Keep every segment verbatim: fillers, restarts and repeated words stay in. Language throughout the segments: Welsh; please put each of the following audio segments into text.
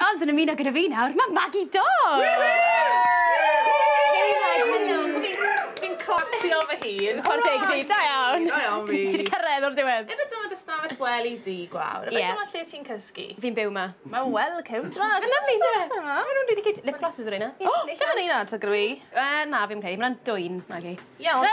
Ond yn ymuno gyda fi nawr, mae Maggie Dodds! Hey Maggie! Helo, fi'n clapio fy hun. Chwarae teg ti, da iawn. Da iawn fi. Ti wedi cyrraedd o'r diwedd. Ife dyma dy stafell gwely di, Gwawr? Ife Ie. dyma lle ti'n cysgu? Fi'n byw 'ma. Mae'n well cute. Mae'n lyfli, dwi'n Maen nhw'n really cute. Lip glosses o'r un. O, lle mae'n un adre gyda fi? Uh, na, fi'n credu. Mae'n dwyn, Maggie. Iawn.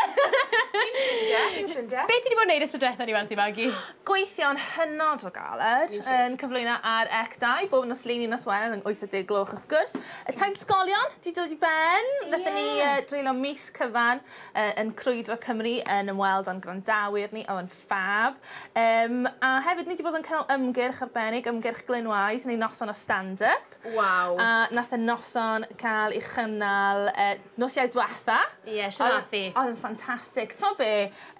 Fi'n ffrindiau, fi'n ffrindiau. Be ti wedi bod yn neud ystod diwethaf ni weld ti, Maggie? Gweithio'n hynod o galed yn cyflwyno ar C dau, bob nos Lun i nos Wener yn wyth a deg gloch wrth gwrs. Y taith ysgolion di dod i ben. Nathon ni Ie. uh, dreulio mis cyfan uh, yn crwydro Cymru yn ymweld â'n gwrandawyr ni, oedd yn fab. Um, a hefyd ni wedi bod yn cynnal ymgyrch arbennig, ymgyrch Glyn Wise, neu noson o stand-up. Waw. A nath y noson cael ei chynnal uh, nos Iau diwetha. Ie, shwt nath hi? Oedd yn ffantastig. T'mo be,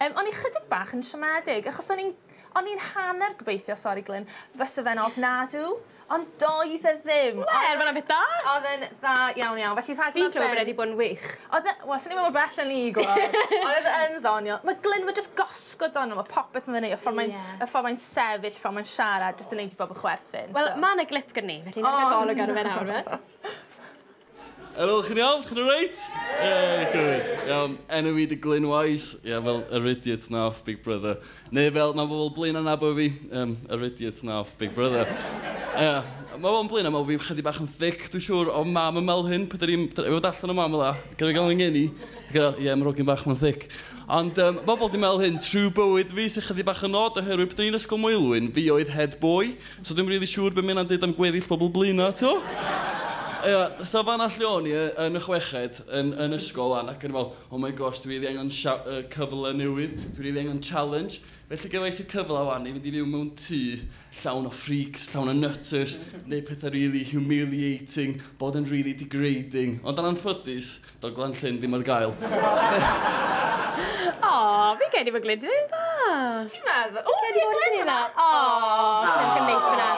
um, o'n i chydig bach yn siomedig, achos o'n i'n o'n i'n hanner gobeithio, sori Glyn, fysa fe'n ofnadw, ond doedd e ddim. Wel, mae'n beth da. Oedd e'n dda iawn iawn. Felly rhaglen Fi'n clywed bod wedi bod yn wych. Oedd e, wel, sy'n ni'n meddwl bell yn ni gweld. Ond oedd e yn ddoniol. Mae Glyn, mae just gosgod ono, mae popeth yn fyny, y ffordd mae'n Ie. y ffordd mae'n sefyll, y ffordd mae'n siarad, jyst yn neud i bobl chwerthin. Wel, so. mae yna glip gyda ni, felly ni'n cael golwg ar fe nawr, fe. Helo, chi'n iawn? Chi'n alright? Yeah, good. Iawn, enw fi 'di Glyn Wise. Ie, yeah, fel yr idiot na off Big Brother. Neu fel, mae bobl Blaenau'n nabod fi, um, yr idiot na off Big Brother. Ie, yeah, mae bobl Blaenau, mae fi chydig bach yn thick, dwi'n siŵr, o mam yn meddwl hyn, pryd i'n dod allan o mam fel gyda gael yng ngeni. Gyda, ie, yeah, mae'r hogyn bach ma'n thick. Ond um, bobl di meddwl hyn trwy bywyd fi, sy'n chydig bach yn odd, oherwydd pryd o'n i'n Ysgol Moelwyn, fi oedd head boy, so dwi'n really siŵr beth mae'n dweud am gweddill bobl Blaenau, to? Ie, so fan lle o'n i yn y chweched yn, yn ysgol an, ac yn fel, "Oh my gosh, dwi really angen uh, cyfle newydd, dwi really angen challenge." Felly gefais i cyfle wan i fynd i fyw mewn tŷ llawn o freaks, llawn o nutters, neu pethau really humiliating, bod yn really degrading. Ond yn anffodus, doedd Glan-llyn ddim ar gael. O, fi'n credu bod Glyn 'di neud dda. Ti'n meddwl? O, Credu bod Glyn 'di dda. O, Glyn yn neis fyna.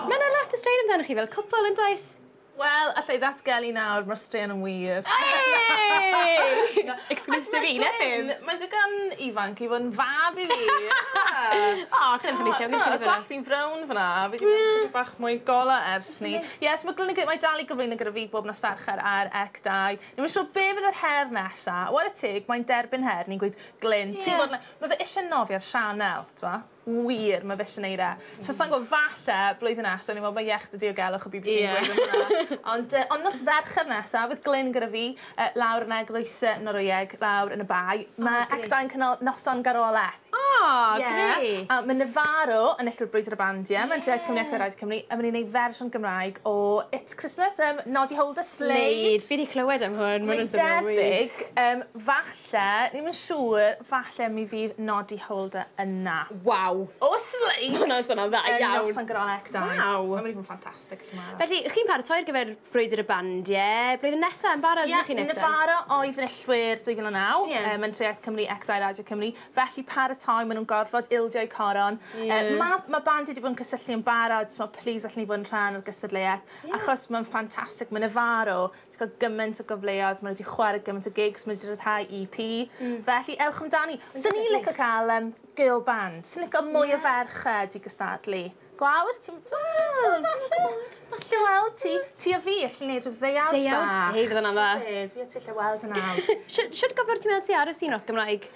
Mae yna lot o straeon amdano chi fel cwpl yn does? Wel, allai ddatgelu nawr, mae'r straeon yn wir. Hey! Exclusive i, nethym. Mae'n ddigon ifanc i fod yn fab i fi. O, chi'n edrych yn neis iawn. Y gwallt fi'n frown fyna. Fi wedi mynd chydig bach mwy gola ers ni. Yes, mae Glyn mae dal i gyflwyno gyda fi bob nos Fercher ar C dau. Ni'n siŵr be fydd yr her nesa. What a teg, mae'n derbyn her. Ni'n gweud, "Glyn, ti'n gwybod, mae fe eisiau nofio ar Sianel, ti'n Wir, mae fe eisiau neud e." So, sa'n gwybod, falle, blwyddyn nesaf, ni'n meddwl mae iechyd y diogelwch y B B C yn Ie. gweud hwnna. Ond, uh, ond nos Fercher nesaf, fydd Glyn gyda fi, uh, lawr yn Eglwys uh, Norwyeg, lawr yn y Bae. Mae grêt. C dau yn cynnal noson garolau. O, Ie. grêt. A mae Nefaro yn enillwyr Brwydr y Bandiau. Mae'n Treth Cymru ac Radio Cymru. A maen nhw'n gwneud fersiwn Gymraeg o It's Christmas, um, Noddy Holder, Slade. Slade. Fi wedi clywed am hwn. Mae'n Mae'n debyg, um, falle, ni'n yn siŵr, falle mi fydd Noddy Holder yna. Waw. O Slade! Hwnna'n swnio'n dda Yn iawn. noson garolau C dau. Waw. Mae'n mynd i fod yn ffantastig. Felly, chi'n paratoi ar gyfer Brwydr y Bandiau blwyddyn nesaf yn barod, Ie, ydych chi'n eto? Nefaro oedd enillwyr dwy fil a naw, Ie. um, yn Treth Cymru, C dau Radio Cymru. Felly paratoi, maen nhw'n gorfod ildio coron. Ie. Uh, Mae ma band wedi bod yn cysylltu yn barod, so please allwn ni fod yn rhan o'r gystadleuaeth. Ie. Achos mae'n ffantastig, mae Nefaro wedi cael gymaint o gyfleoedd, maen nhw wedi chwarae gymaint o gigs, maen nhw wedi rhyddhau E P. Mm. Felly ewch amdani. Swn i'n licio cael um, girl band, swn i'n licio mwy o ferched i gystadlu. Gwawr, ti'n Wel, falle, falle weld ti, ti a fi, allu gwneud rhyw ddeuawd Deuawd? bach. Hei, fydd hwnna'n dda. Be, fi a ti allu weld yna. Shwt shwt gyflwr ti'n meddwl sy ar y sîn roc Gymraeg?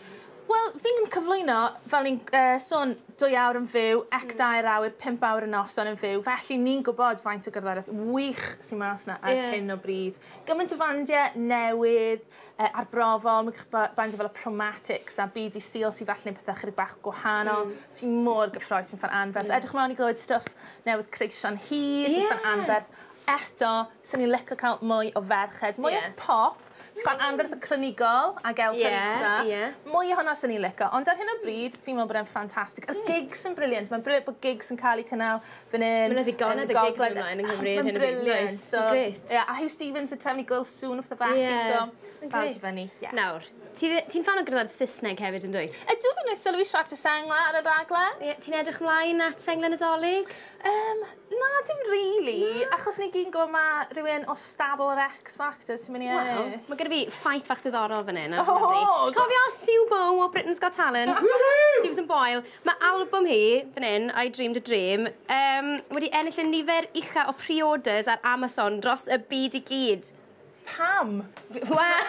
Wel, fi'n cyflwyno, fel ni'n uh, sôn, dwy awr yn fyw, ec dair awr, pump awr y noson yn fyw. Felly ni'n gwybod faint o gerddoriaeth wych sy'n mas yna ar Ie. hyn o bryd. Gymaint o fandiau newydd, uh, arbrofol, mae ba- bandiau fel y Promatics a B D Seal sy'n falle neud pethau chydig bach gwahanol, mm. sy'n mor gyffrous, sy'n ffan anferth. Mm. Edrych mlaen i glywed stwff newydd Creision Hir, sy'n Ie. ffan anferth. Eto, sy'n ni'n licio cael mwy o ferched, mwy Ie. o pop, ffan anferth y Clinigol ac El Ie, Parisa. ie. Mwy o hwnna sy'n ni'n licio, ond ar hyn o bryd, fi'n meddwl bod e'n ffantastig. Y gigs yn brilliant, mae'n brilliant bod gigs yn cael eu cynnal fan hyn. Ma' 'na ddigonedd yn o gigs Gogledd. ymlaen yng Nghymru ar Mae'n hyn o bryd, brilliant. does? So, Grêt. Ie, a Huw Stephens yn trefnu gwyl sŵn o pethau felly, Ie. so Mae'n barod i grêt. fyny. Ie. Nawr, ti- ti'n ffan o gerddoriaeth Saesneg hefyd yn dwyt? Ydw, fi'n neud sylwi siarad y sengla ar y raglen. Ie, ti'n edrych ymlaen at senglau Nadolig? Um, na, dim really. Really, achos ni gyd yn gwybod mae rhywun o stable yr X Factor sy'n mynd i Wel, ennill. mae gyda fi ffaith fach diddorol fan hyn. Oh, Cofio Sue Bow o Britain's Got Talent? Susan Boyle. Mae album hi, fan hyn, I Dreamed a Dream, um, wedi ennill y nifer ucha o pre-orders ar Amazon dros y byd i gyd. Pam? Wel,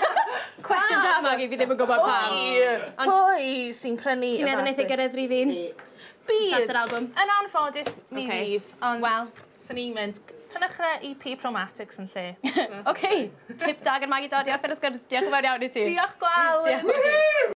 cwestiwn da, Maggie, fi ddim yn gwybod pam. Pwy? Ond- Pwy sy'n prynu Ti'n meddwl wneith ei gyrraedd rhif un? Bydd. At yr album? Yn anffodus, mi Ocê. fydd. Ond Wel. swn i'n mynd, prynwch y E P Promatics yn lle. OK, tip da gan Maggie Dodd i orffen y sgwrs. Diolch yn fawr iawn i ti. Diolch, Gwawr. Diolch.